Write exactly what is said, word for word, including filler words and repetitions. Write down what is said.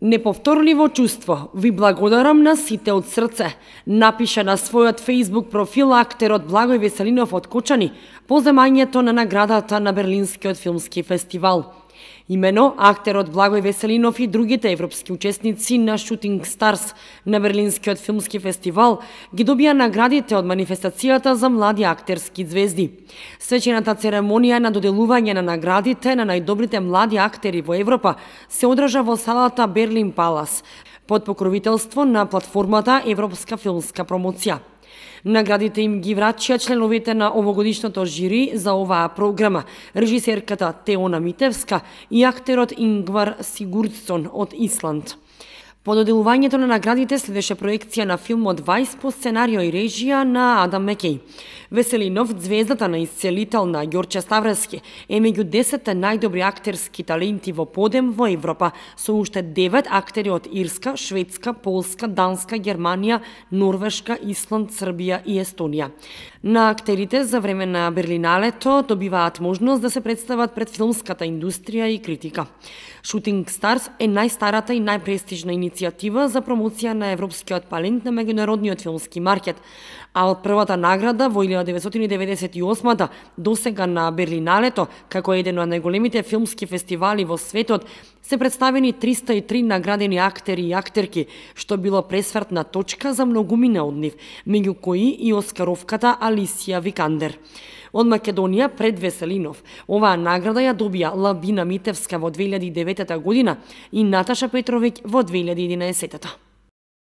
Неповторливо чувство, ви благодарам на сите од срце, напиша на својот Facebook профил актерот Благој Веселинов од Кочани по земањето на наградата на Берлинскиот филмски фестивал. Имено, актерот Благој Веселинов и другите европски учесници на Shooting Stars на Берлинскиот филмски фестивал ги добија наградите од манифестацијата за млади актерски звезди. Свечената церемонија на доделување на наградите на најдобрите млади актери во Европа се одржа во салата Берлин Палас, под покровителство на платформата Европска филмска промоција. Наградите им ги врачија членовите на овогодишното жири за оваа програма, режисерката Теона Митевска и актерот Ингвар Сигурдсон од Исланд. По доделувањето на наградите следеше проекција на филмот Вајс по сценарио и режија на Адам Мекеј. Веселинов, звездата на исцелител на Ѓорче Ставрески, е меѓу десетте најдобри актерски таленти во подем во Европа, со уште девет актери од Ирска, Шведска, Полска, Данска, Германија, Норвешка, Исланд, Србија и Естонија. На актерите за време на Берлиналето добиваат можност да се представат пред филмската индустрија и критика. Shooting Stars е најстарата и најпрестижна иницијатива за промоција на европскиот талент на меѓународниот филмски маркет, а од првата награда во илјада деветстотини деветдесет и осма досега на Берлиналето, како еден од најголемите филмски фестивали во светот, се представени триста и три наградени актери и актерки, што било пресвртна точка за многумина од нив, меѓу кои и оскаровката Алисија Викандер. Од Македонија пред Веселинов, оваа награда ја добија Лабина Митевска во две илјади и девета година и Наташа Петровиќ во две илјади и единаесета.